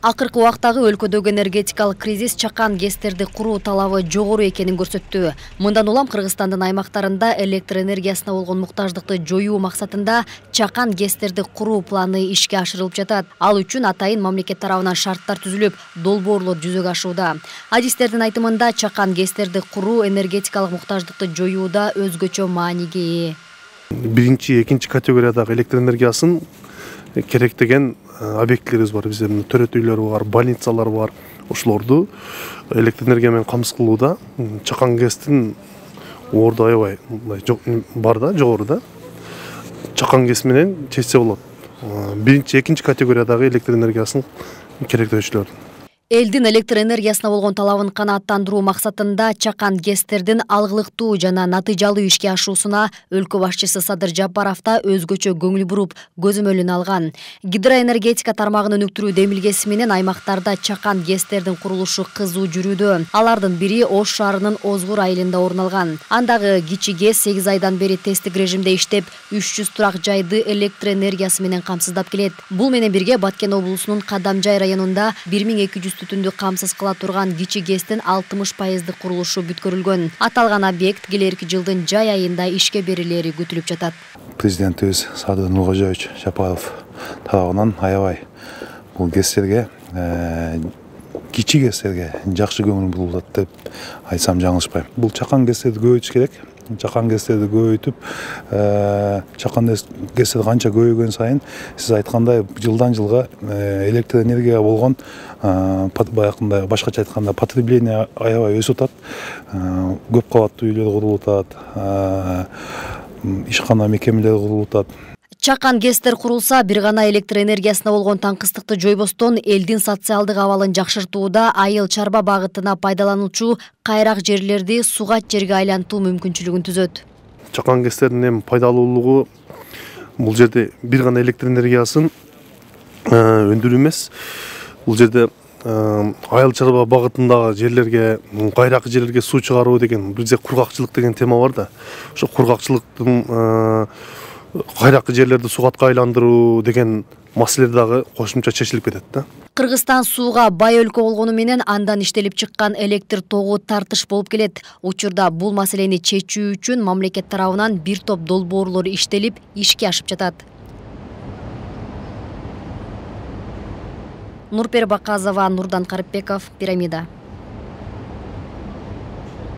Акыркы убактагы өлкөдөгү энергетикалык кризис чакан ГЭСтерди куруу талабы жогору экенин көрсөттү. Мындан улам Кыргызстандын аймактарында электр энергиясына болгон муктаждыкты жоюу максатында чакан ГЭСтерди куруу планы ишке ашырылып жатат. Ал үчүн атайын мамлекет тарабынан шарттар түзүлүп, долбоорлор жүзөгө ашууда. Адистердин айтымында чакан ГЭСтерди куруу энергетикалык муктаждыкты жоюуда өзгөчө мааниге ээ. Биринчи, экинчи категориядагы электр энергиясын керектеген объектилерибиз бар. Биздин төрөт үйлөр бар, больницалар бар. Ошолорду электр энергия менен камсыз кылууда чакан ГЭСтин орду аябай бар да, жогору да. Чакан ГЭС менен чечсе болот. Биринчи, экинчи категориядагы электр энергиясын керектөөчүлөрдүн. Элдин электр энергиясына болгон талабын канааттандыруу максатында чакан ГЭСтердин алгылыктуу жана натыйжалуу ишке ашуусуна өлкө башчысы Садыр Жапаров да өзгөчө көңүл буруп, көзөмөлүн алган. Гидроэнергетика тармагын өнүктүрүү демилгеси менен аймактарда чакан ГЭСтердин курулушу кызуу жүрүүдө. Алардын бири Ош шаарынын Озгур айылында орун алган. Андагы кичи ГЭС 8 айдан бери тесттик режимде иштеп, 300 турак жайды электр энергиясы менен камсыздап келет. Бул менен бирге Баткен облусунун Кадамжай районунда 1200 түтүндү камсыз кыла турган кичи ГЭСтин 60% курулушу бүткөрүлгөн. Аталган объект келерки жылдын жай айында ишке берилери күтүлүп жатат. Президентибиз Садыр Нуркожоевич Жапаров тарабынан аябай бул ГЭСтерге, кичи ГЭСтерге жакшы көңүл бурулат деп айтсам жаңылышпайм. Бул чакан ГЭСтерди көбөйтүш керек. Чакан ГЭСтерди көбөйтүп, чакан ГЭСтер канча көбөйгөн сайын, сиз айткандай, жылдан жылга электр энергияга болгон баягындай башкача айтканда потребление аябай өсүп атат. Көп кабаттуу үйлөр курулуп атат, ишкана мекемелер курулуп атат. Чакан ГЭСтер курулса, бир гана электр энергиясына болгон таңкыстыкты жойбостон элдин социалдык абалын жакшыртууда айыл чарба багытына пайдалануучу кайрак жерлерди сугат жерге айлантуу мүмкүнчүлүгүн түзөт. Чакан ГЭСтердин эми пайдалуулугу бул жерде бир гана электр энергиясын өндүрүү эмес. Бул жерде айыл чарба багытындагы жерлерге, кайрак жерлерге суу чыгаруу деген, бизде кургакчылык деген тема бар да. Ошо кургакчылыктын кайракы жерлерди сугатка айландыруу деген маселе дагы кошумча чечилип кетет да. Кыргызстан сууга бай өлкө болгону менен андан иштелип чыккан электр тогу тартыш болуп келет. Учурда бул маселени чечүү үчүн мамлекет тарабынан бир топ долбоорлор иштелип, ишке ашып жатат. Нурпер Баказова, Нурдан Карыпбеков, Пирамида.